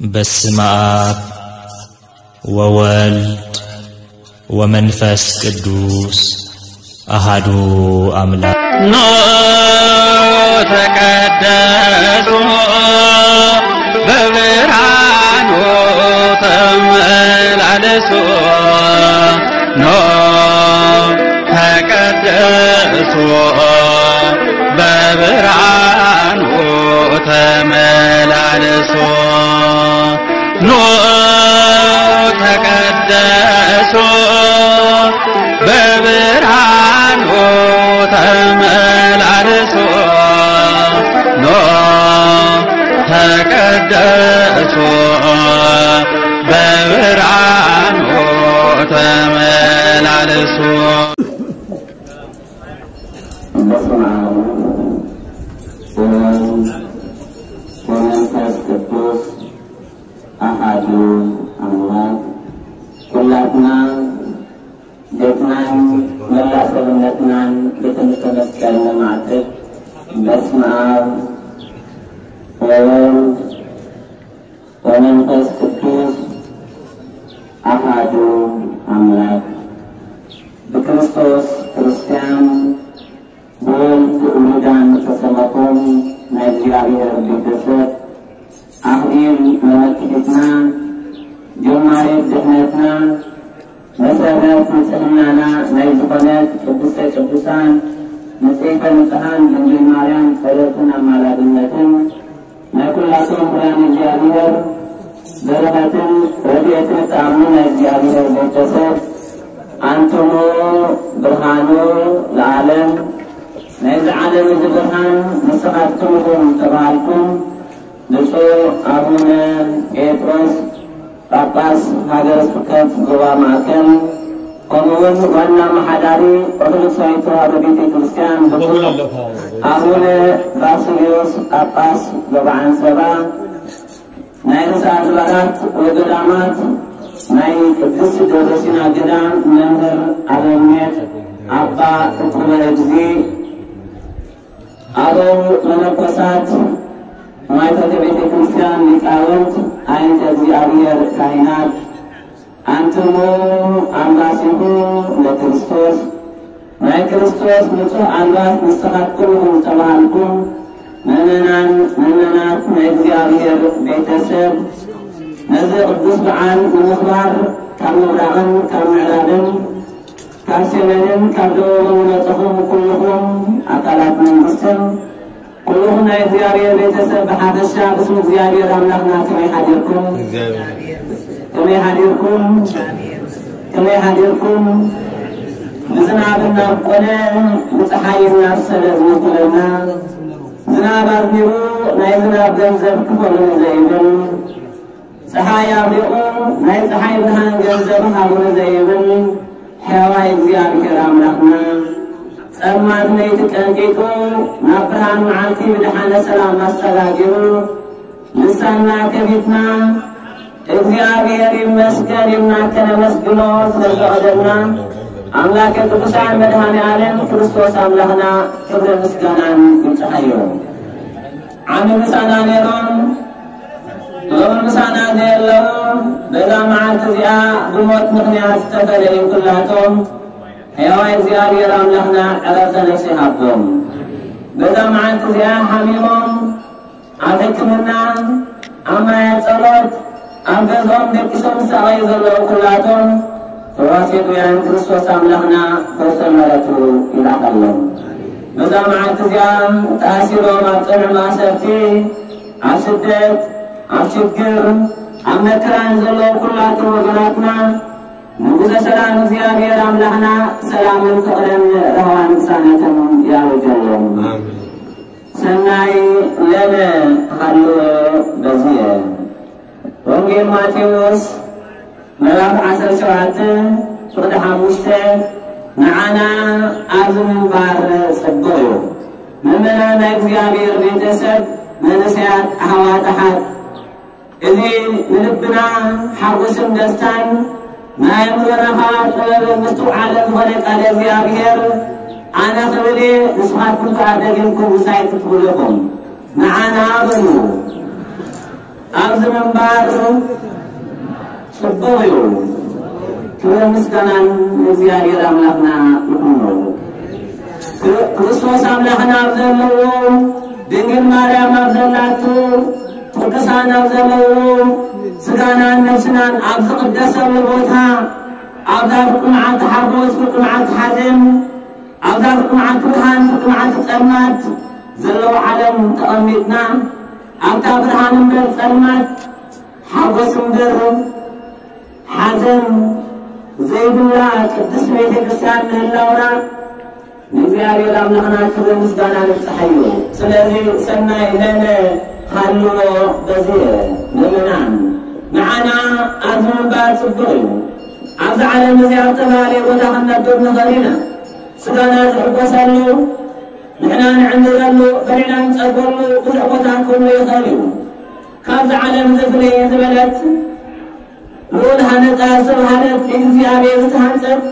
በስመ አብ ወወልድ ወመንፈስ ቅዱስ አሃዱ አምላክ። ኖ ተቀደሱ በብርሃኑ ተመላለሱ። ኖ ተቀደሱ በብርሃኑ ተመላለሱ። ኖ ተቀደሱ በብርሃኑ ተመላለሱ። ኖ ተቀደሱ በብርሃኑ ተመላለሱ። በስመ አብ ወወልድ ወመንፈስ ቅዱስ አሐዱ አምላክ። ኩላትና ቤትናን መላእ ሰብነትናን ብትምህርተ መስቀል ነማዕጥር። በስመ አብ ወወልድ ወመንፈስ ቅዱስ አሐዱ አምላክ። ብክርስቶስ ክርስቲያን፣ ብወልድ ውሉዳን ዝተሰመኹም ናይ እግዚኣብሔር ቤተሰብ፣ ኣኽሊል መመክሒትና፣ ጀማሪት ድሕነትና፣ መሰረት ንጽህናና ናይ ዝኾነት ቅድስተ ቅዱሳን ንጽሕተ ንጽሓን ድንግል ማርያም ጸሎትን ኣማላድነትን ናይ ኩላቶም ብርሃን እግዚኣብሔር በረኸትን ረድኤትን እትኣምኑ ናይ እግዚኣብሔር ቤተሰብ፣ ኣንትሙ ብርሃኑ ለዓለም፣ ናይዚ ዓለም እዚ ብርሃን ንስኻትኩም ኢኹም ተባሃልኩም፣ ብፁዕ ኣቡነ ጴጥሮስ ጳጳስ ሃገረ ስብከት ዞባ ማእከል፣ ከምኡውን ዋና ኣመሓዳሪ ኦርቶዶክሳዊት ተዋህዶ ቤተ ክርስቲያን ብፁዕ ኣቡነ ባስልዮስ ጳጳስ ዞባ ዓንሰባ፣ ናይ ርእሰ ኣድባራት ወገዳማት ናይ ቅድስት ደብረሲና ገዳም መምህር ኣበምኔት ኣባ እኩበ እግዚእ፣ ኣበው መነኮሳት፣ ማይቶተ ቤተ ክርስቲያን ሊቃውንት፣ ኣይንተ እግዚኣብሔር ካህናት፣ ኣንትሙ ኣልባሲሁ ለክርስቶስ፣ ናይ ክርስቶስ ንጹሕ ኣልባስ ንስኻትኩም ኢኹም ዝተባህልኩም ምእመናን፣ ምእመናት ናይ እግዚኣብሔር ቤተሰብ፣ ነዚ ቅዱስ በዓል ንምኽባር ካብ ምብራቕን ካብ ምዕራብን ካብ ሰሜንን ካብ ደቡብን ዝመጸኹም ኩልኹም ኣካላት መንግስትን ኩልኹም ናይ እግዚኣብሔር ቤተሰብ ብሓፈሻ ብስም እግዚኣብሔር ኣምላኽና ከመይ ሓዲርኩም? ከመይ ሓዲርኩም? ከመይ ሓዲርኩም? ብዝናብ እናብቆለ ብፀሓይ እናብሰለ ዝውክለና፣ ዝናብ ኣዝኒቡ ናይ ዝናብ ገንዘብ ክፈሉኒ ዘይብል፣ ፀሓይ ኣብሪቑ ናይ ፀሓይ ብርሃን ገንዘብ ሃቡኒ ዘይብል ሕያዋይ እግዚኣብሔር ኣምላኽና፣ ጸልማት ለይቲ ቀንጢጡ ናብ ብርሃን መዓልቲ ብደሓነ ሰላም ኣሰጋጊሩ ልሳንና ከፊትና እግዚኣብሔር ይመስገን ኢልና ከነመስግኖ ስለ ዝፈቐደልና ኣምላከ ቅዱሳን መድኃኔ ዓለም ክርስቶስ ኣምላኽና ክብርን ምስጋናን ይብጽሓዮ። ዓሚ ምሳና ነይሮም ሎሚ ምሳና ዘየለዉ በዛ መዓልቲ እዚኣ ብሞት ምኽንያት ዝተፈለዩ ኩላቶም ሕያዋይ እግዚኣብሔር ኣምላኽና ዕረፍተ ነፍሲ ይሃቦም። በዛ መዓልቲ እዚኣ ሓሚሞም ኣብ ሕክምና ኣብ ማያ ጸሎት ኣብ ገዝኦም ደቂሶም ዝሳቐዩ ዘለዉ ኩላቶም ፈዋሲ ሕሙማን ክርስቶስ ኣምላኽና ፈውሰ ምሕረቱ ይልኣኸሎም። በዛ መዓልቲ እዚኣ ተኣሲሮም ኣብ ጽኑዕ ማእሰርቲ ኣብ ስደት፣ ኣብ ሽግር፣ ኣብ መከራ ንዘለዉ ኩላቶም ወገናትና ንጉሰ ሰላም እግዚኣብሔር ኣምላኽና ሰላምን ፍቕርን ራህዋን ቅሳነትን ያውጀሎም። ኣሜን። ሰናይ ለነ ሃልወ በዝየ። ወንጌል ማቴዎስ ምዕራፍ ዓሰርተ ሸውዓተ ፍቕዲ ሓሙሽተ ንዓና ኣብዚ ምንባር ጽቡቕ እዩ። ምእመናን ናይ እግዚኣብሔር ቤተሰብ መንእሰያት ኣሕዋት ኣሓት፣ እዚ ንልብና ሓጎስን ደስታን ንኣእምሮና ኸኣ ጥበብን ምስትውዓልን ዝኾነ ቃለ እግዚኣብሔር ኣነ ክብል እየ፣ ንስኻትኩም ከኣ ደጊምኩም ምሳይ ክትብሉ ኢኹም። ንዓና በሉ። ኣብዚ ምንባር ጽቡቕ እዩ። ክብርን ምስጋናን ንእግዚኣብሔር ኣምላኽና ይኹኖ። ክርስቶስ ኣምላኽና ኣብ ዘለዎ፣ ድንግል ማርያም ኣብ ዘላቱ፣ ቅዱሳን ኣብ ዘለዉ፣ ስጋናን ነፍስናን ኣብ ዝቕደሰሉ ቦታ፣ ኣብዛ ፍጹም መዓልቲ ሓጎስ፣ ፍጹም መዓልቲ ሓዘን፣ ኣብዛ ፍጹም መዓልቲ ብርሃን፣ ፍጹም መዓልቲ ጸልማት ዘለዉ ዓለም ተቐሚጥና፣ ኣብታ ብርሃን እምበር ጸልማት፣ ሓጎስ እምበር ሓዘን ዘይብላ ቅድስት ቤተ ክርስቲያን ምህላውና ንእግዚኣብሔር ኣምላኽና ክብሪ ምስጋና ንብጽሓዮ። ስለዚ ሰናይ ለነ ሃልዎ በዝየ ምእመናን ንዓና ኣብዚ ምንባር ጽቡቕ እዩ። ኣብዚ ዓለም እዚኣ ኣብ ዝተፈላለየ ቦታ ክንነብር ንኽእል ኢና። ስጋና ዝሕጎሰሉ፣ ንሕና ንዕንድረሉ፣ በሊዕና ንጸግበሉ ብዙሕ ቦታ ክህሉ ይኽእል እዩ። ካብዚ ዓለም እዚ ፍልይ ዝበለት ልዑል ሃነጻ ዝተባህለት፣ ብእግዚኣብሔር ዝተሃንጸት፣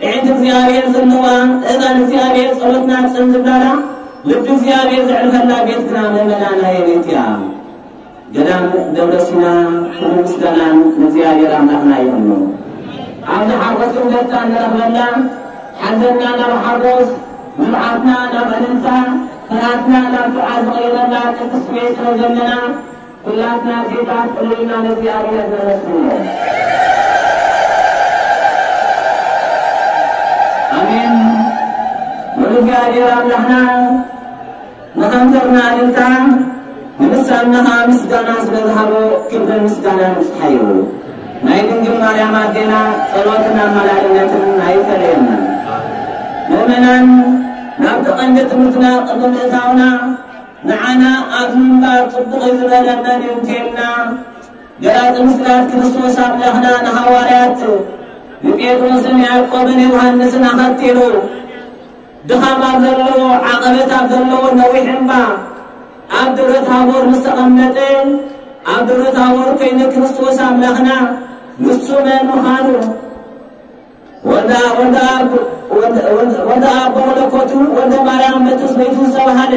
ኣዒንቲ እግዚኣብሔር ዘለዋ፣ እዛን እግዚኣብሔር ጸሎትና ጽን ዝብላላ፣ ልቢ እግዚኣብሔር ዘዕርፈላ ቤት ግና ምእመናን ኣየነይቲ እያ? ገዳም ደብረ ሲና። ክብርን ምስጋናን ንእግዚኣብሔር ኣምላኽና ይኹን። ኣብዚ ሓጎስን ደስታን ንረኽበላ፣ ሓዘንና ናብ ሓጎስ፣ ንብዓትና ናብ ዕልልታ፣ ፍርሃትና ናብ ዱዓ ዝቐየረላ ቅድስቲ ቤት ስለ ዘለና፣ ኩላትና ጌታ ጥሉልና ንእግዚኣብሔር ነመስግኖ። ኣሜን። ንእግዚኣብሔር ኣምላኽና ንኸንፈርና እልልታ፣ ንልሳንና ኸዓ ምስጋና ስለ ዝሃቦ ክብርን ምስጋናን ንብጽሓዮ። ናይ ድንግል ማርያም ኣዴና ጸሎትን ኣማላድነትን ኣይፈለየና። ምእመናን፣ ናብቲ ቀንዲ ትምህርትና ቅድሚ ምእታውና፣ ንዓና ኣብ ምንባር ጽቡቕ እዩ ዝበለ መን እዩ እንተልና፣ ገላጺ ምስጢራት ክርስቶስ ኣምላኽና ንሃዋርያት ንጴጥሮስን ያዕቆብን ዮሃንስን ኣኸቲሉ፣ ድኻም ኣብ ዘለዎ፣ ዓቐበት ኣብ ዘለዎ ነዊሕ እምባ ኣብ ደብረ ታቦር ምስ ተቐመጠ፣ ኣብ ደብረ ታቦር ኮይኑ ክርስቶስ ኣምላኽና ንሱ መን ምዃኑ፣ ወልደ፣ ወልደ ኣብ፣ ወልደ፣ ወልደ፣ ወልደ ኣብ ብመለኮቱ፣ ወልደ ማርያም በትስብእቱ ዝተባህለ፣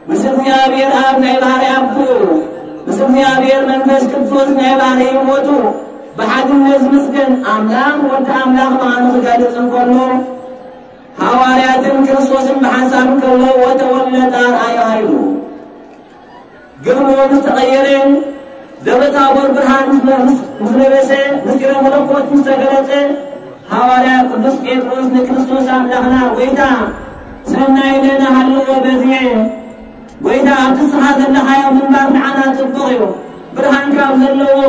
ምስ እግዚኣብሔር ኣብ ናይ ባህሪ ኣቦኡ፣ ምስ እግዚኣብሔር መንፈስ ቅዱስ ናይ ባህሪ ህይወቱ ብሓድነት ዝምስገን ኣምላኽ ወዲ ኣምላኽ ምዃኑ ክገልጽ እንከሎ፣ ሃዋርያትን ክርስቶስን ብሓንሳብ እንከለዉ፣ ወተወለጠ ኣርኣያ ኃይሉ። ግርሞ ምስ ተቐየረ፣ ደብረ ታቦር ብርሃን ምስ፣ ምስ፣ ምስ ለበሰ፣ ምስጢረ መለኮት ምስ ተገለጸ፣ ሃዋርያ ቅዱስ ጴጥሮስ ንክርስቶስ ኣምላኽና፣ "ጐይታ፣ ሰናይ ለነ ሃልዎ በዝየ፣ ጐይታ፣ ኣብቲ ንስኻ ዘለኻዮ ምንባር ንዓና ጽቡቕ እዩ። ብርሃን ካብ ዘለዎ፣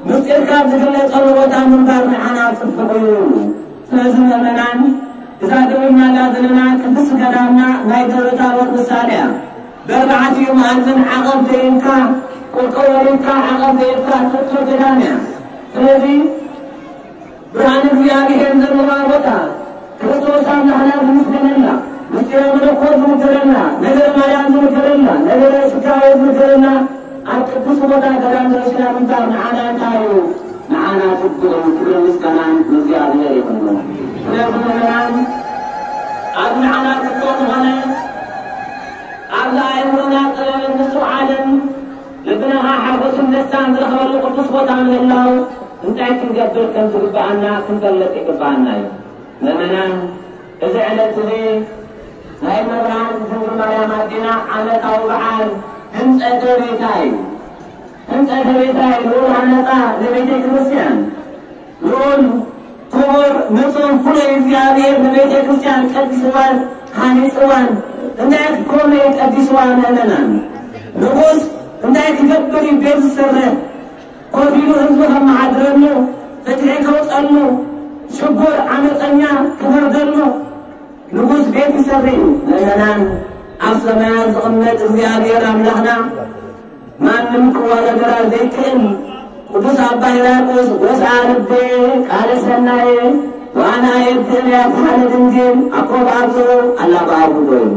ምስጢር ካብ ዝግለጸሉ ቦታ ምንባር ንዓና ጽቡቕ እዩ" ይብሉ። ስለዚ ምእመናን፣ እዛ ደዊልናላ ዘለና ቅድስቲ ገዳምና ናይ ደብረ ታቦር ምሳሌ እያ። ብኣርባዕቲኡ መኣዝን ዓቐብ ዘይብልካ፣ ቁርቆሮ ዘይብልካ፣ ዓቐብ ዘይብልካ ትሕቶ ገዳም እያ። ስለዚ ብርሃን እግዚኣብሔር ዘለዋ ቦታ፣ ክርስቶስ ኣምላኽና ዝምስገነላ፣ ምስጢረ መለኮት ዝንገረላ፣ ነገረ ማርያም ዝንገረላ፣ ነገረ ስጋዌ ዝንገረላ፣ ኣብ ቅዱስ ቦታ ገዳም ደረስና ምንባር ንዓና እንታይ እዩ? ንዓና ጽቡቕ እዩ። ክብርን ምስጋናን ንእግዚኣብሔር ይኹን። ስለዚ ምእመናን፣ ኣብ ንዓና ጽቡቕ ዝኾነ፣ ኣብዚ ኣእምሮና ጥበብን ምስትውዓልን ልብና ሓጎስን ደስታን ዝረኽበሉ ቅዱስ ቦታ ምህላው፣ እንታይ ክንገብር ከም ዝግብኣና ክንፈልጥ ይግብኣና እዩ። ምእመናን፣ እዚ ዕለት እዚ ናይ መብርሃን ድንግል ማርያም ኣዴና ዓመታዊ በዓል ህንጸተ ቤታ እዩ። ህንጸተ ቤታ እዩ። ልዑል ሃነጻ ንቤተ ክርስቲያን፣ ልዑል ክቡር ንጹር ፍሉይ እግዚኣብሔር ንቤተ ክርስቲያን ቀዲስዋን ሃኒጽዋን። እንታይ ክኮነ እዩ ቀዲስዋ? ምእመናን፣ ንጉስ እንታይ ክገብር እዩ ቤት ዝሰርሕ? ኮፍ ኢሉ ህዝቡ ከመሓድረሉ፣ ፍትሒ ከውፀሉ፣ ሽጉር ዓመፀኛ ክፈርደሉ ንጉስ ቤት ይሰርሕ እዩ። ምእመናን፣ ኣብ ሰማያት ዝቕመጥ እግዚኣብሔር ኣምላኽና ማንም ክወዳደራ ዘይክእል ቅዱስ ኣባ ሕርያቆስ "ወስኣ ልቤ ቃለ ሰናየ ወአነ አየድእ" ያተሃለ ድንግል ኣኮ በአብዞ አላ በአቡዶ እዩ።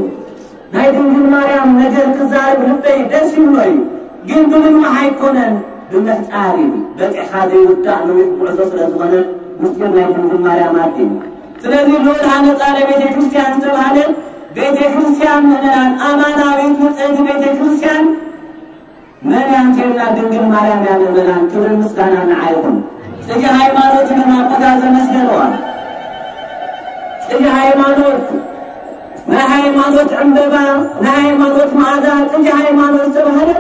ናይ ድንግል ማርያም ነገር ክዛረብ ልበይ ደስ ይብሎ እዩ፣ ግን ብምንዋሕ ኣይኮነን፣ ብምሕጻር እዩ። በጺሕኻ ዘይውዳእ ነዊሕ ጉዕዞ ስለ ዝኾነ ምስጢር ናይ ድንግል ማርያም ኣዴ እዩ። ስለዚ ልዑል ሃነጻ ለቤተ ክርስቲያን ዝተባህለ ቤተ ክርስቲያን ምእመናን ኣማናዊት ንጽሕቲ ቤተ ክርስቲያን መን ያንቴና ድንግል ማርያም ያለ መላን ክብር ምስጋና ንዓይኹም። ጽጌ ሃይማኖት ድማ ቦታ ዘመስገነዋ ጽጌ ሃይማኖት ናይ ሃይማኖት ዕምበባ ናይ ሃይማኖት መዓዛ ጽጌ ሃይማኖት ዝተባህለ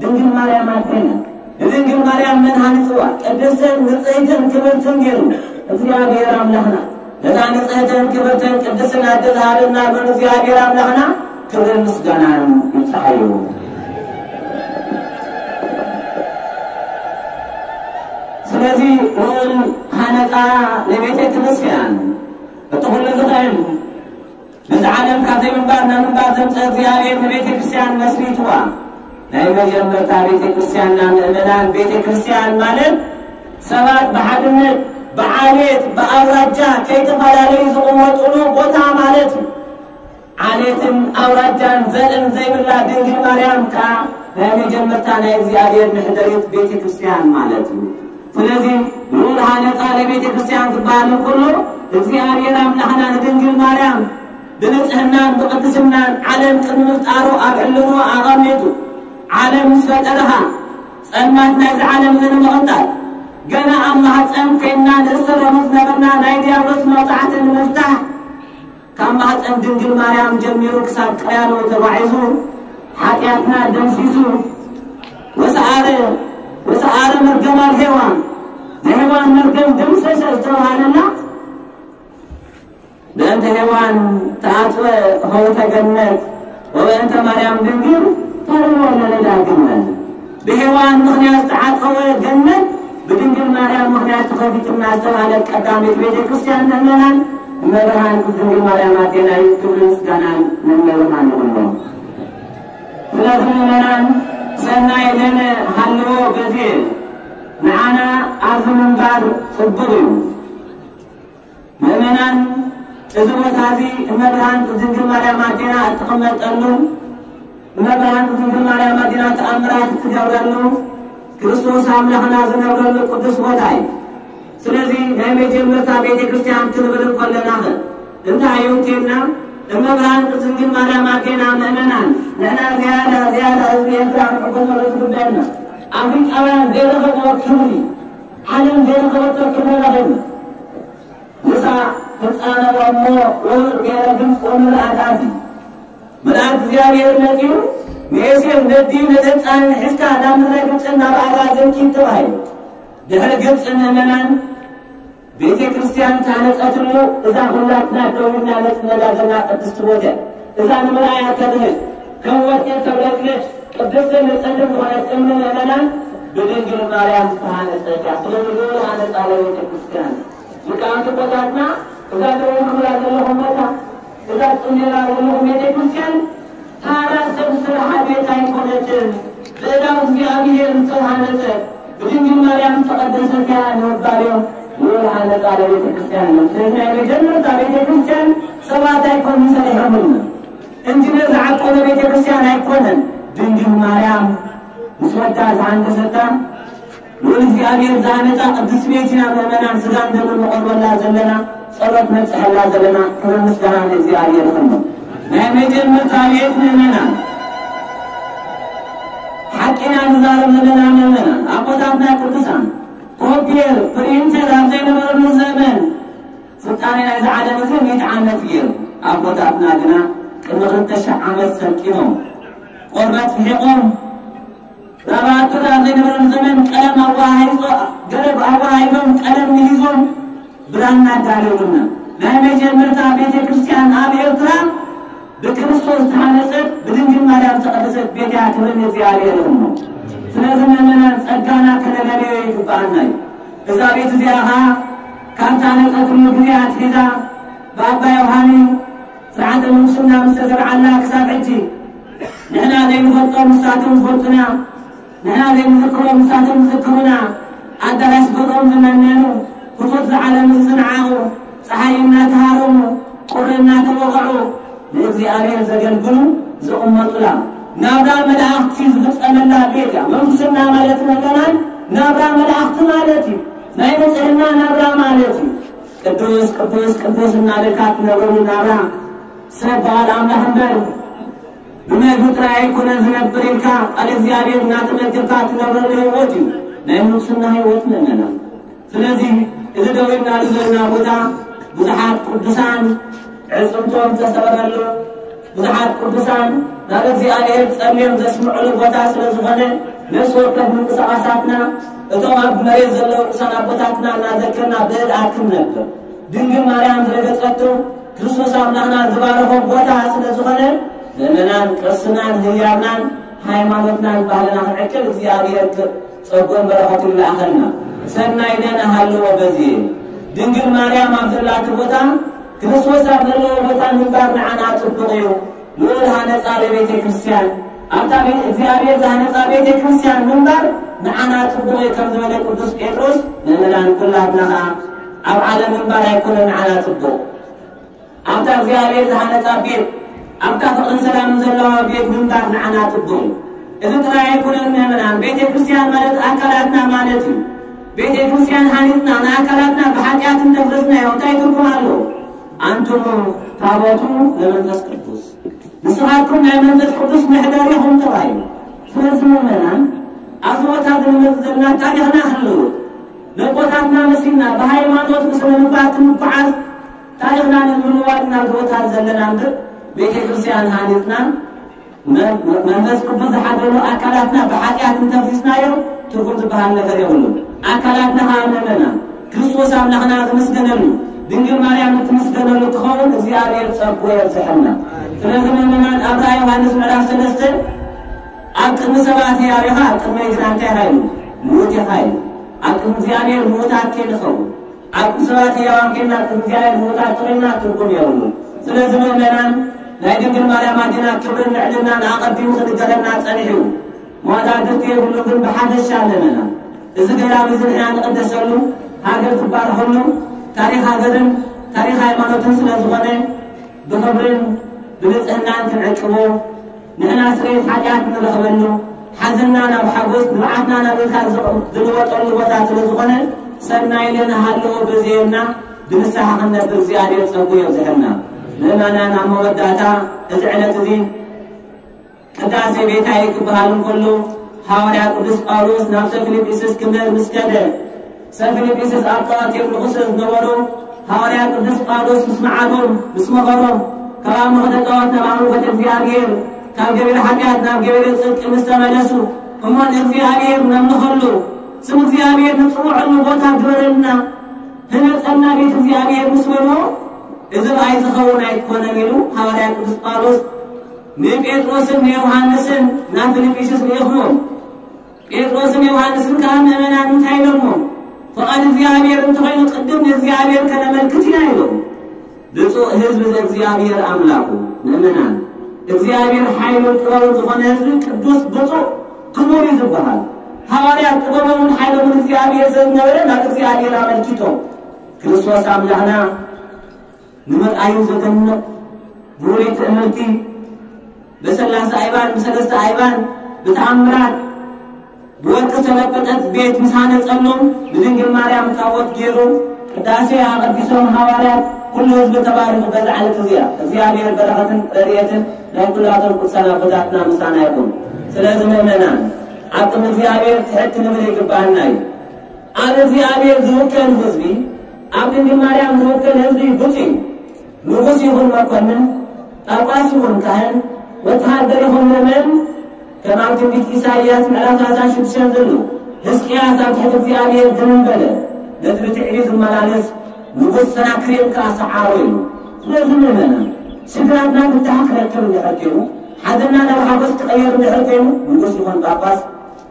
ድንግል ማርያም ኣዴና። ንድንግል ማርያም መን ሃኒጽዋ? ቅድስትን ንጽሕትን ክብርትን ገይሩ እግዚኣብሔር ኣምላኽና። ነታ ንጽሕትን ክብርትን ቅድስትን ኣደ ዝሃበና ሎን እግዚኣብሔር ኣምላኽና ክብርን ምስጋናን ይብጽሓዮ። ስለዚ ልዑል ሃነጻ ንቤተ ክርስቲያን እቲ ኩሉ ዝኽእል ነዚ ዓለም ካብ ዘይምንባር ናብ ምንባር ዘምፀ እግዚኣብሔር ንቤተ ክርስቲያን መስሪትዋ። ናይ መጀመርታ ቤተ ክርስቲያንና ምእመናን ቤተ ክርስቲያን ማለት ሰባት ብሓድነት ብዓሌት ብኣውራጃ ከይተፈላለዩ ዝቕመጡሉ ቦታ ማለት እዩ። ዓሌትን ኣውራጃን ዘርእን ዘይብላ ድንግል ማርያም ከዓ ናይ መጀመርታ ናይ እግዚኣብሔር መሕደሪት ቤተ ክርስቲያን ማለት እዩ። ስለዚ ልዑል ሃነፃ ለቤተ ክርስቲያን ዝበሃል እንከሎ እግዚኣብሔር ኣምላኽና ንድንግል ማርያም ብንጽህናን ብቅድስናን ዓለም ቅድሚ ምፍጣሩ ኣብ ሕልኖ ኣቐሚጡ ዓለም ምስ ፈጠረኻ ጸልማት ናይዚ ዓለም እዚ ንምቕንጣል ገና ኣብ ማህፀን ኮይንና ንእሰረሉ ዝነበርና ናይ ዲያብሎስ መቕጻዕቲ ንምፍታሕ ካብ ማህፀን ድንግል ማርያም ጀሚሩ ክሳብ ቀያዶ ተጓዒዙ ሓጢኣትና ደምሲሱ ወሰኣረ ወሰኣረ መርገማ ሄዋን ናይ ሄዋን መርገም ደምሰሰ ዝተባሃለላ በእንተ ሄዋን ተዓጽወ ሆውተ ገነት ወበእንተ ማርያም ድንግል ተርሞ ለነዳግመን ብሄዋን ምኽንያት ዝተዓጸወ ገነት ብድንግል ማርያም ምኽንያት ተኸፊትና ዝተባህለት ቀዳመይቲ ቤተ ክርስቲያን ምእመናን እመብርሃን ድንግል ማርያም ኣዴና እዩ። ክብሪ ምስጋናን ንእመብርሃን ይኹኖ። ስለዚ ምእመናን ሰናይ ለነ ሃልዎ በዚ ንዓና ኣብዚ ምንባር ጽቡቕ እዩ። ምእመናን እዚ ቦታ እዚ እመብርሃን ድንግል ማርያም ኣዴና እትቕመጠሉ እመብርሃን ድንግል ማርያም ኣዴና ተኣምራት እትገብረሉ ክርስቶስ ኣምላኽና ዝነብረሉ ቅዱስ ቦታ እዩ። ስለዚ ናይ መጀመርታ ቤተ ክርስቲያን ክንብል እንከለና ኸ እንታይ እዩ እንተልና እመብርሃን ድንግል ማርያም ኣዴና ምእመናን ንሕና ዝያዳ ዝያዳ ህዝቢ ኤርትራ ንሕጎሰሉ ዝግበአና ኣፍሪቃውያን ዘይረኸብዎ ክብሪ ዓለም ዘይረኸበቶ ክብሪ ረኸብና። ንሳ ህፃነ እሞ ውሩድ ገይረ ግብፂ ወምልኣት ኣቲ መልኣክ እግዚኣብሔር መፂኡ ንኤሴር ነዲኡ ነቲ ህፃን ሒዝካ ናብ ምድረ ግብፂ ናብ ኣራ ዘንኪድ ተባሂሉ። ድሕሪ ግብፂ ምእመናን ቤተ ክርስቲያን ታነፀትሉ እዛ ሁላትና ደው ኢልና ነፅነላ ዘለና ቅድስቲ ቦታ እዛ ንምርኣያ ተድህል ከም ወርቂ ተብለጭልጭ ቅድስትን ንጽሕትን ዝኾነት እምኒ ምእመናን ብድንግል ማርያም ዝተሃነጸት እያ። ስለዚ ልዑል ሃነጻ ለቤተ ክርስቲያን። ሊቃውንቲ ኣቦታትና እዛ ትርእይዋ ዘለኹም ቦታ፣ እዛ ትጽልዩላ ዘለኹም ቤተ ክርስቲያን ተራ ሰብ ዝሰርሓ ቤት ኣይኮነትን። ብእዳው እግዚኣብሔር ዝተሃነጸት ብድንግል ማርያም ዝተቐደሰት እያ ንምባል እዮም ልዑል ሃነጻ ለቤተ ክርስቲያን እዮም። ስለዚ ናይ መጀመርታ ቤተ ክርስቲያን ሰባት ኣይኮኑን ሰሪሖምልና። እንጅነር ዝዓቀነ ቤተ ክርስቲያን ኣይኮነን። ድንግል ማርያም ምስ ወዳ ዝሃንደሰታ፣ ልዑል እግዚኣብሔር ዝሃነጻ ቅድስቲ ቤት ኢና። ምእመናን ስጋን ደምን ንቐርበላ ዘለና፣ ጸሎት ነብጽሐላ ዘለና፣ ክብሪ ምስጋና ንእግዚኣብሔር ይኹን። ናይ መጀመርታ ቤት ምእመናን፣ ሓቂና ንዛረብ ዘለና ምእመናን፣ ኣቦታትና ቅዱሳን፣ ኮምፒተር፣ ፕሪንተር ኣብ ዘይነበረሉ ዘመን፣ ስልጣኔ ናይዚ ዓለም እዚ ሚእቲ ዓመት ገይሩ። ኣቦታትና ግና ቅድሚ ክልተ ሽሕ ዓመት ሰልጢኖም፣ ቆርበት ፍሒቖም፣ ራባቶት ኣብ ዘይነበረሉ ዘመን ቀለም ኣወሃሂዞ-፣ ገረብ ኣወሃሂዶም፣ ቀለም ምሂዞም፣ ብራና ኣዳለውልና። ናይ መጀመርታ ቤተ ክርስቲያን ኣብ ኤርትራ ብክርስቶስ ዝተሃነጸት ብድንግል ማርያም ዝተቐደሰት ቤት እያ። ክብሪ ንእግዚኣብሔር ይኹን። ስለዚ ምእመናን ጸጋና ከነለልዮ ይግብኣና እዩ። እዛ ቤት እዚኣ ኸኣ ካብ ተሃነጸትሉ ግዜ ኣትሒዛ ብኣባ ዮሃኒ ስርዓተ ምንኩስና ምስ ተሰርዓላ ክሳብ ሕጂ ንሕና ዘይንፈልጦ ንሳቶም ዝፈልጡና፣ ንሕና ዘይንዝክሮ ንሳቶም ዝዝክሩና፣ ኣዳራሽ ገዝኦም ዝመነኑ፣ ህጹጽ ዝዓለሙ ዝንዓቑ፣ ጸሓይ እናተሃረሙ፣ ቁሪ እናተወቕዑ፣ ንእግዚኣብሔር ዘገልግሉ ዝቕመጡላ፣ ናብራ መላእኽቲ ዝፍጸመላ ቤት እያ። ምንኩስና ማለት ምእመናን ናብራ መላእኽቲ ማለት እዩ። ናይ ንጽህና ናብራ ማለት እዩ። ቅዱስ፣ ቅዱስ፣ ቅዱስ እናበልካ ትነብረሉ ናብራ ሰብ በዓል ኣምላኽ እምበር ብመግቢ ጥራይ ኣይኮነን ዝነብር ኢልካ ቃል እግዚኣብሔር እናተመገብካ ትነብረሉ ህይወት እዩ ናይ ምንኩስና ህይወት። ምእመናን፣ ስለዚ እዚ ደው ኢልናሉ ዘለና ቦታ ብዙሓት ቅዱሳን ዕፅምቶም ዝተሰበረሉ፣ ብዙሓት ቅዱሳን ናብ እግዚኣብሔር ጸልዮም ዘስምዑሉ ቦታ ስለ ዝኾነ፣ ነፍሲ ወከፍ ምንቅስቓሳትና እቶም ኣብ መሬት ዘለዉ ቅዱሳን ኣቦታትና እናዘከርና ብህድኣት ክንነብር፣ ድንግል ማርያም ዝረገጸቶ ክርስቶስ ኣምላኽና ዝባረኾ ቦታ ስለ ዝኾነ፣ ምእመናን ቅርስናን ህያብናን ሃይማኖትናን ባህልና ክንዕቅብ እግዚኣብሔር ክ-፣ ጸጉን በረኸትን ይልኣኸልና። ሰናይ ነን ሃልዎ በዝየ። ድንግል ማርያም ኣብ ዘላቲ ቦታ፣ ክርስቶስ ኣብ ዘለዎ ቦታ ምንባር ንዓና ጽቡቕ እዩ። ልዑል ሃነጻ ለቤተ ክርስቲያን፣ ኣብታ ቤት እግዚኣብሔር ዝሃነጻ ቤተ ክርስቲያን ምንባር ንዓና ጽቡቕ እዩ ከም ዝበለ ቅዱስ ጴጥሮስ፣ ምእመናን ኩላትና ኸኣ ኣብ ዓለም ምንባር ኣይኮነን ንዓና ጽቡቕ። ኣብታ እግዚኣብሔር ዝሃነጻ ቤት፣ ኣብታ ፍቕርን ሰላምን ዘለዋ ቤት ምንባር ንዓና ጽቡቕ እዩ። እዚ ጥራይ ኣይኮነን ምእመናን፣ ቤተ ክርስቲያን ማለት ኣካላትና ማለት እዩ። ቤተ ክርስቲያን ሃኒጽና ንኣካላትና ብሓጢኣት እንተፍረስናዮ እንታይ ትርጉም ኣለዎ? ኣንቱሙ ታቦቱ ለመንፈስ ቅዱስ፣ ንስኻትኩም ናይ መንፈስ ቅዱስ መሕደሪ ኢኹም ተባሂሉ። ስለዚ ምእመናን፣ ኣብዚ ቦታ እዚ ንመጽእ ዘለና ታሪኽና ክንልውጥ፣ ነቦታትና መሲልና ብሃይማኖት ብስነ ምግባር ክንጓዓዝ፣ ታሪኽና ንምልዋጥ ናብ ቦታ ዘለና እምበር፣ ቤተ ክርስቲያን ሃኒጽና መ-፣ መ-፣ መንፈስ ቅዱስ ዝሓደሉ ኣካላትና ብሓጢኣት እንተፍሪስናዮ ትርጉም ዝበሃል ነገር የብሉን። ኣካላትና ኸኣ ምእመናን ክርስቶስ ኣምላኽና ዝምስገነሉ፣ ድንግል ማርያም እትምስገነሉ ክኸውን እግዚኣብሔር ጸጉ የብዝሐልና። ስለዚ ምእመናን ኣብ ራእይ ዮሃንስ ምዕራፍ ሰለስተ ኣብ ቅድሚ ሰባት ህያው ኢኻ፣ ኣብ ቅድመይ ግና እንታይ ኢኻ ኢሉ? ምዉት ኢኻ ኢሉ። ኣብ ቅድሚ እግዚኣብሔር ምዉታት ከይንኸውን፣ ኣብ ቅድሚ ሰባት ህያዋን ኮይና፣ ኣብ ቅድሚ እግዚኣብሔር ምዉታት ኮይና ትርጉም የብሉን። ስለዚ ምእመናን ናይ ድንግል ማርያም ኣዴና ክብርን ልዕልናን ኣቐዲሙ ክንገረና ጸኒሑ እዩ። መወዳድርቲ የብሉን፣ ግን ብሓፈሻ ኣለና። እዚ ገዳም እዚ ንሕና ንቕደሰሉ፣ ሃገር ትባርኸሉ፣ ታሪኽ ሃገርን ታሪኽ ሃይማኖትን ስለ ዝኾነ ብኽብርን ብንጽህናን ክንዕቅቦ፣ ንሕና ስርየት ሓጢኣት ንረኽበሉ፣ ሓዘንና ናብ ሓጎስ፣ ንብዓትና ናብ እልልታ ዝቕ-፣ ዝልወጠሉ ቦታ ስለ ዝኾነ፣ ሰናይ ለንሃልዎ በዝየና ብንስሓ ክንነብር እግዚኣብሔር ጸጉ የብዝሐልና። ምእመናን፣ ኣብ መወዳእታ እዚ ዕለት እዚ ቅዳሴ ቤታይ ክበሃል እንከሎ፣ ሃዋርያ ቅዱስ ጳውሎስ ናብ ሰብ ፊልጵስዩስ ክምህር ምስ ከደ፣ ሰብ ፊልጵስዩስ ኣብ ጣዖት የምልኹ ስለ ዝነበሩ፣ ሃዋርያ ቅዱስ ጳውሎስ ምስ መዓዶም፣ ምስ መኸሮም፣ ካብ ኣምልኾተ ጣዖት ናብ ኣምልኾተ እግዚኣብሔር፣ ካብ ገቢረ ሓጢኣት ናብ ገቢረ ጽድቂ ምስ ተመለሱ፣ እሞ ንእግዚኣብሔር ነምልኸሉ፣ ስም እግዚኣብሔር ንጽውዐሉ ቦታ ግበረልና፣ ህነጸልና ቤት እግዚኣብሔር ምስ በልዎ፣ እዚ ርኣይ ዝኸውን ኣይኮነን ኢሉ ሃዋርያ ቅዱስ ጳውሎስ ንጴጥሮስን ንዮሃንስን ናብ ፊልጵስዩስ ልኢኽዎም። ጴጥሮስን ዮሃንስን ከኣ ምእመናን እንታይ ኢሎምዎም? ፍቓድ እግዚኣብሔር እንተኾይኑ ቅድም ንእግዚኣብሔር ከነመልክት ኢና ኢሎም። ብፁዕ ህዝብ ዘእግዚኣብሔር ኣምላኩ። ምእመናን፣ እግዚኣብሔር ሓይሉን ጥበቡን ዝኾነ ህዝቢ ቅዱስ፣ ብፁዕ፣ ክቡር እዩ ዝበሃል። ሃዋርያት ጥበቦምን ሓይሎምን እግዚኣብሔር ዘዝነበረ ናብ እግዚኣብሔር ኣመልኪቶም። ክርስቶስ ኣምላኽና ንምርኣዩ ዘደንቕ ብሩይ ትእምርቲ፣ ብሰላሳ ኣይባን፣ ብሰለስተ ኣይባን፣ ብተኣምራት፣ ብወርቂ ዝተለበጠት ቤት ምስ ሃነጸሎም፣ ብድንግል ማርያም ታቦት ገይሩ ቅዳሴ ኣቐዲሶም ሃዋርያት፣ ኩሉ ህዝቢ ተባሪኹ በዛ ዕለት እዚኣ። እግዚኣብሔር በረኸትን ረድኤትን ናይ ኩላቶም ቅዱሳን ኣቦታትና ምሳና ይኹን። ስለዚ ምእመናን፣ ኣብ ቅድሚ እግዚኣብሔር ትሕት ክንብል ይግባኣና እዩ። ኣብ እግዚኣብሔር ዝውከል ህዝቢ፣ ኣብ ድንግል ማርያም ዝውከል ህዝቢ ብፁዕ እዩ። ንጉስ ይኹን መኮንን፣ ጳጳስ ይኹን ካህን፣ ወተሃደር ይኹን ምእመን፣ ከም ኣብ ትንቢት ኢሳይያስ ምዕራፍ ሰላሳን ሽዱሽተን ዘሎ፣ ሕዝቅያስ ኣብ ትሕቲ እግዚኣብሔር ድንን በለ፣ ነቲ ብትዕቢት ዝመላለስ ንጉስ ሰናክሬም ከኣ ሰዓሮ ኢሉ። ስለዚ ምእመናን፣ ሽግራትና ፍታሕ ክረክብ እንድሕር ኮይኑ፣ ሓዘንና ናብ ሓጎስ ክቐየር እንድሕር ኮይኑ፣ ንጉስ ይኹን ጳጳስ፣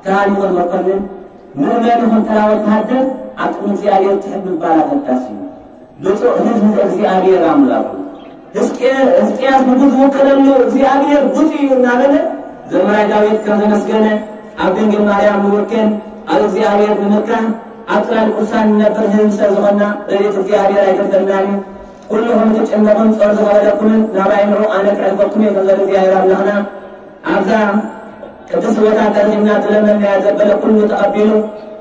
ካህን ይኹን መኮንን፣ ምእመን ይኹን ተራ ወተሃደር ኣብ ቅድሚ እግዚኣብሔር ትሕት ምባል ኣገዳሲ እዩ። ብፁዕ ህዝቢ እግዚኣብሔር ኣምላኹ። ሕዝቅያ-፣ ሕዝቅያስ ንጉስ ዝውከለሉ እግዚኣብሔር ብፁዕ እዩ እናበለ ዘማራይ ዳዊት ከም ዘመስገነ ኣብ ድንግል ማርያም ንውከል፣ ኣብ እግዚኣብሔር ንምርካብ ኣብ ጽላል ቅዱሳን ንነብር ህዝቢ ስለ ዝኾንና ረድኤት እግዚኣብሔር ኣይገድፈናን እዩ። ኩልኹም እትጭነቑን ጾር ዝኸበደኩምን ናባይ ንዑ ኣነ ክዕርፈኩም እየ ከም ዘሎ እግዚኣብሔር ኣምላኽና ኣብዛ ቅድስቲ ቦታ ተረኺብና ዝለመንናዮ ዘበለ ኩሉ ተቐቢሉ፣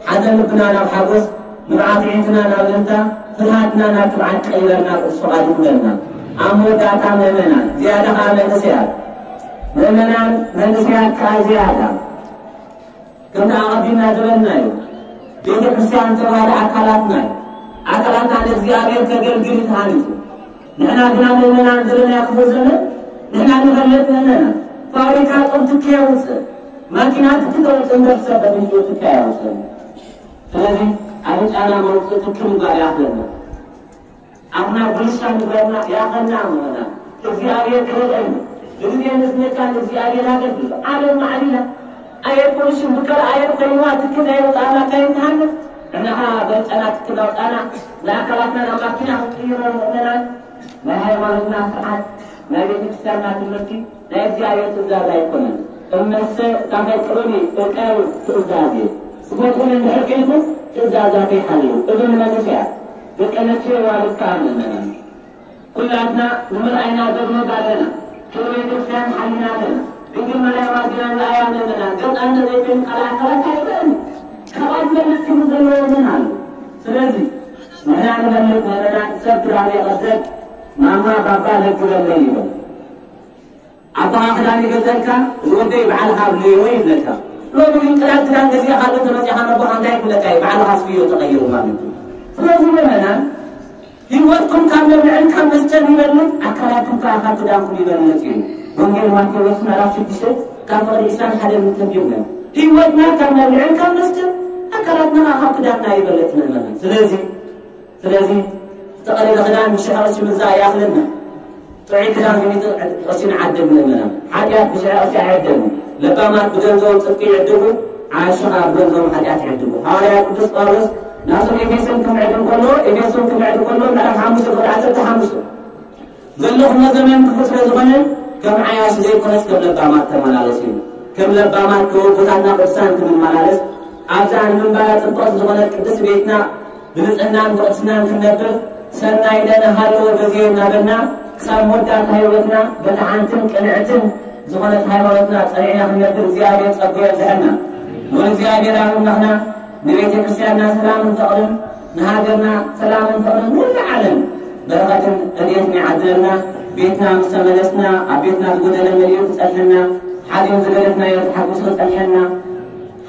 ሓዘን ልብና ናብ ሓጎስ፣ ንብዓት ኣዒንትና ናብ እልልታ፣ ፍርሃትና ናብ ትብዓት ቀይረልና ቅዱስ ፍቓዱ ይኹነልና። ኣብ መወዳእታ ምእመናን፣ ዝያዳ ኸኣ መንእሰያት፣ ምእመናን መንእሰያት ከኣ ዝያዳ፣ ከምቲ ኣቐዲምና ዝበልናዮ፣ ቤተ ክርስቲያን ዝተባህለ ኣካላትና እዩ። ኣካላትና ንእግዚኣብሔር ከገልግል እዩ ተሃኒጹ። ንሕና ግና ምእመናን ዘለናዮ ክፉእ ዘመን፣ ንሕና ንፈልጥ ምእመናን፣ ፋብሪካ ጡብ ትኪ የውፅእ፣ ማኪና ትኪ ተውፅእ እምበር ሰብ በትንሽኡ ትኪ ኣየውፅእን። ስለዚ ኣፍንጫና መውፅኢ ትኪ ምግባር ይኣኽለና። ኣፍና ጉልሻ ንግበርና፣ ይኣኽለና ምእመናን። እግዚኣብሔር ክረድአና። ብግዜ ንስነቻ ንእግዚኣብሔር ኣገልግሎ። ዓለም ማዕቢላ። ኣየር ፖሊሽን ብከላ ኣየር ኮይንዋ ትኪ ዘይወፅኣና እንታይ ንትሃንፍ? ንሕና ኸዓ በልጠና ትኪ እናውፃና ንኣካላትና ናብ ማኪና ክንቅይሮ ምእመናን። ናይ ሃይማኖትና ስርዓት፣ ናይ ቤተ ክርስቲያንና ትምህርቲ፣ ናይ እግዚኣብሔር ትእዛዝ ኣይኮነን። እመሰ ታፈቅሩኒ እቀቡ ትእዛዜ፣ ትፈትዉኒ እንድሕር ኮይንኩም ትእዛዛተይ ሓልዉ። እዞም መንእሰያት ደቂ ኣንስትዮ ዋልድ ከኣ ምእመናን፣ ኩላትና ንምርኣይና ዘግመት ኣለና። ክብሪ ቤተ ክርስቲያን ሓሊና ኣለና። ድንግል ማርያም ኣዚና ንርኣያ ምእመናን፣ ገጻ እንተዘይኮይኑ ካልእ ኣካላት ኣይረኣን። ካብኣ ዝበልጽ ክብሪ ዘለዎ መን ኣሎ? ስለዚ ንሕና ንፈልጥ ምእመናን፣ ሰብ ክዳን የቐደድ፣ ማማ ባባ ለግበለይ ይብል። ኣቦኻ ክዳን ይገዝኣልካ፣ ዝወደይ በዓልኻ ኣብለዮ ይብለካ። ሎሚ ግን ቅዳድ ክዳን ገዚእካ ኣሎ ተመጺኻ ነቦኻ እንታይ ክብለካ እዩ? በዓልኻ ስፍዮ ተቐይሩ ማለት እዩ። ስለዚ ምእመናን፣ ህይወትኩም ካብ መብልዕን ካብ መስተን ይበልጽ፣ ኣካላትኩም ከኣ ካብ ክዳንኩም ይበልጽ እዩ። ወንጌል ማቴዎስ ምዕራፍ ሽዱሽተ ካብ ፍቕዲ ዕስራን ሓደን እንተንቢብና፣ ህይወትና ካብ መብልዕን ካብ መስተን፣ ኣካላትና ከኣ ካብ ክዳንና ይበልጽ ምእመናን። ስለዚ ስለዚ ዝተቐደደ ክዳን ብሽሕ ቅርሺ ምግዛእ ይኣኽለና። ጥዑይ ክዳን ብሚእቲ ቅርሺ ንዓድግ ምእመናን። ሓጢኣት ብሽሕ ቅርሺ ኣይዕደግን። ለባማት ብገንዘቦም ጽድቂ ይዕድጉ፣ ዓያሹ ኸኣ ብገንዘቦም ሓጢኣት ይዕድጉ። ሃዋርያ ቅዱስ ጳውሎስ ናብቶም ኤፌሶን ክምዕድ እንከሎ፣ ኤፌሶን ክምዕድ እንከሎ ምዕራፍ ሓሙሽተ ቁጽሪ ዓሰርተ ሓሙሽተ ዘለኹሞ ዘመን ክፉእ ስለ ዝኾነ፣ ከም ዓያሹ ዘይኮነስ ከም ለባማት ተመላለሱ እዩ። ከም ለባማት ከወቦታትና ቅዱሳን ክንመላለስ፣ ኣብዛ ንምንባራ ጽብቕቲ ዝኾነት ቅድስቲ ቤትና ብንጽህናን ብቕድስናን ክንነብር፣ ሰናይ ለነ ሃለወ በዝየ እናበልና፣ ክሳብ መወዳእታ ህይወትና በታ ሓንትን ቅንዕትን ዝኾነት ሃይማኖትና ጸኒዕና ክንነብር እግዚኣብሔር ጸግኡ የብዝሐልና። ልዑል እግዚኣብሔር ኣብ ኣምላኽና ንቤተ ክርስቲያንና ሰላምን ፍቕርን፣ ንሃገርና ሰላምን ፍቕርን፣ ንመላእ ዓለም በረኸትን ረድኤትን ይዓድለልና። ቤትና ምስ ተመለስና፣ ኣብ ቤትና ዝጎደለ መሊኡ ክጸንሐና፣ ሓዚኑ ዝገደፍናዮ ተሓጒሱ ክጸንሐና፣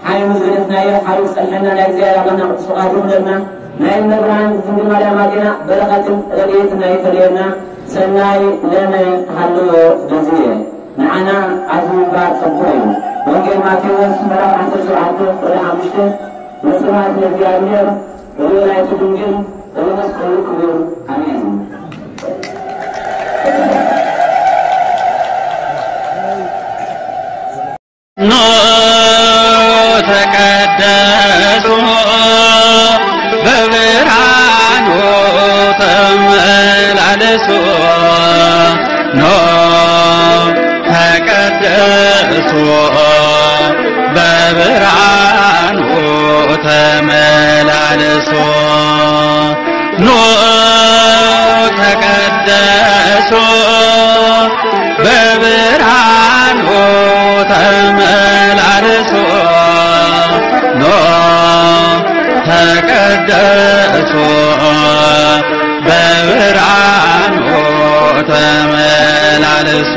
ሓሚሙ ዝገደፍናዮ ሓቢሩ ክጸንሐና ናይ እግዚኣብሔር ኣምላኽና ቅዱስ ፍቓዱ ይኹነልና። ናይ እመ ብርሃን ድንግል ማርያም ኣዴና በረኸትን ረድኤትን ኣይፈለየና። ሰናይ ለነ ሃልዎ በዝየ። ንዓና ኣብዚ ምንባር ጸግኡ እዩ። ወንጌል ማቴዎስ ምዕራፍ ዓሰርተ ሸውዓተ ቁጽሪ ሓሙሽተ፣ ወስብሐት ለእግዚኣብሔር ወለወላዲቱ ድንግል ወለመስቀሉ ክቡር። ኣሜን። ኖ ተቀደሱ በብርሃኑ ተመላለሱ። ኖ ተቀደሱ በብርሃኑ ተመላለሱ። ኑ ተቀደሱ በብርሃኑ ተመላለሱ። ኑ ተቀደሱ በብርሃኑ ተመላለሱ።